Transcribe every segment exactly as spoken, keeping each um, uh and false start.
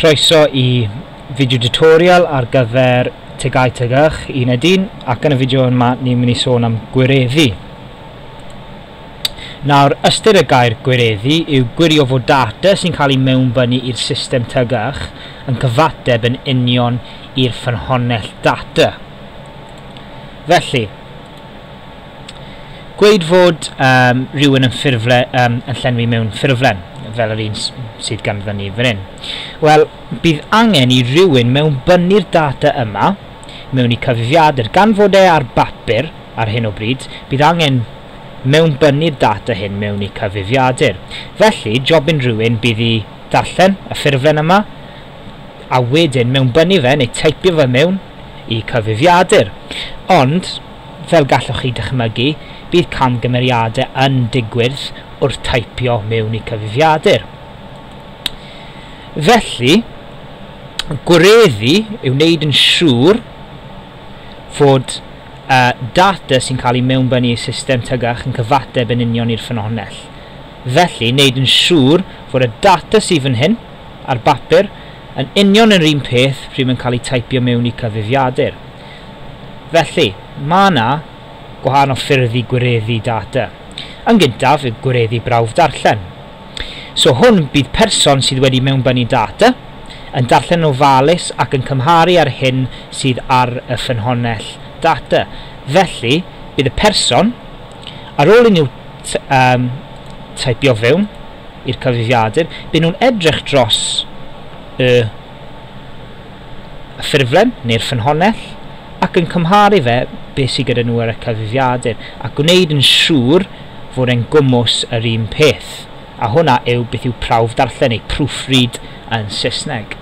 Croeso i fideo tutorial ar gyfer T G A U T G Y C uned un, ac yn y fideo yma ni'n mynd i sôn am gwireddu. Nawr, ystyr y gair gwireddu yw gwirio fod data sy'n cael ei mewnbynnu i'r system T G Y C yn cyfateb yn union i'r ffynhonnell data. Felly, gweud fod um, rhywun yn, ffurfle, um, yn llenwi mewn ffurflen, fel yr un sydd ganddo ni fan hyn. Wel, bydd angen i rhywun mewnbynnu'r data yma mewn i cyfrifiadur. Gan fod e ar bapur ar hyn o bryd, bydd angen mewnbynnu'r data hyn mewn i cyfrifiadur. Felly, jobyn rhywun bydd i darllen y ffurflen yma, a wedyn mewnbynnu fe neu teipio fe mewn i cyfrifiadur. Ond, fel gallwch chi dychmygu, bydd camgymeriadau yn digwydd wrth teipio mewn i cyfrifiadur. Felly, gwireddu yw wneud yn siŵr fod uh, data sy'n cael ei mewnbynnu i'r system T G Y C yn cyfateb yn union i'r ffynhonnell. Felly, wneud yn siŵr fod y data sydd fan hyn ar bapur yn union yr un peth pryd mae'n cael ei teipio mewn i cyfrifiadur. Felly, mae yna gwahanol ffyrdd i gwireddu data. Yn gyntaf, yw gwireddu brawf darllen. So hwn bydd person sydd wedi mewnbynnu data yn darllen ofalus ac yn cymharu ar hyn sydd ar y ffynhonnell data. Felly, bydd y person, ar ôl i nhw um, teipio fewn i'r cyfrifiadur, bydd nhw'n edrych dros y, y ffurflen neu'r ffynhonnell ac yn cymharu fe beth sydd gyda nhw ar y cyfrifiadur a gwneud yn siŵr fod e'n gwmws yr un peth. A hwnna yw beth yw prawf darllen neu proofread yn Saesneg.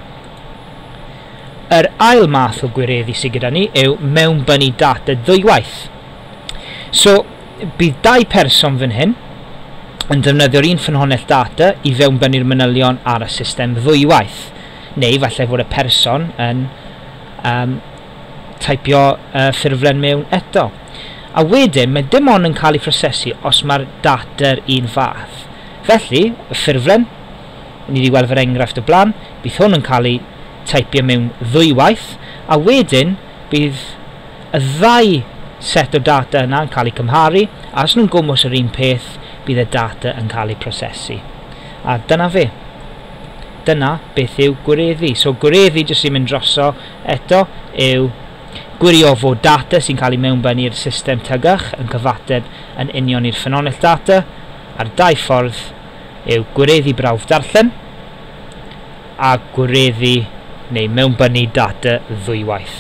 Yr ail math o gwireddu sydd gyda ni yw mewnbynnu data ddwywaith. So, bydd dau person fan hyn yn defnyddio'r un ffynhonnell data i fewnbynnu'r manylion ar y system ddwywaith. Neu falle fod y person yn um, teipio uh, ffurflen mewn eto. A wedyn, mae dim ond yn cael ei phrosesu os mae'r data'r un fath. Felly, y ffurflen, ni wedi gweld fer enghraifft o blaen, bydd hwn yn cael ei teipio mewn ddwywaith, a wedyn bydd y ddau set o data yna yn cael ei cymharu, a os nhw'n gwmws yr un peth, bydd y data yn cael ei prosesu. A dyna fe. Dyna beth yw gwireddu. So gwireddu, jyst i mynd droso eto, yw gwirio fod data sy'n cael ei mewnbynnu i'r system T G Y C yn cyfateb yn union i'r ffynhonnell data, a'r dau ffordd yw gwireddu brawf darllen a gwireddu neu mewnbynnu data ddwywaith.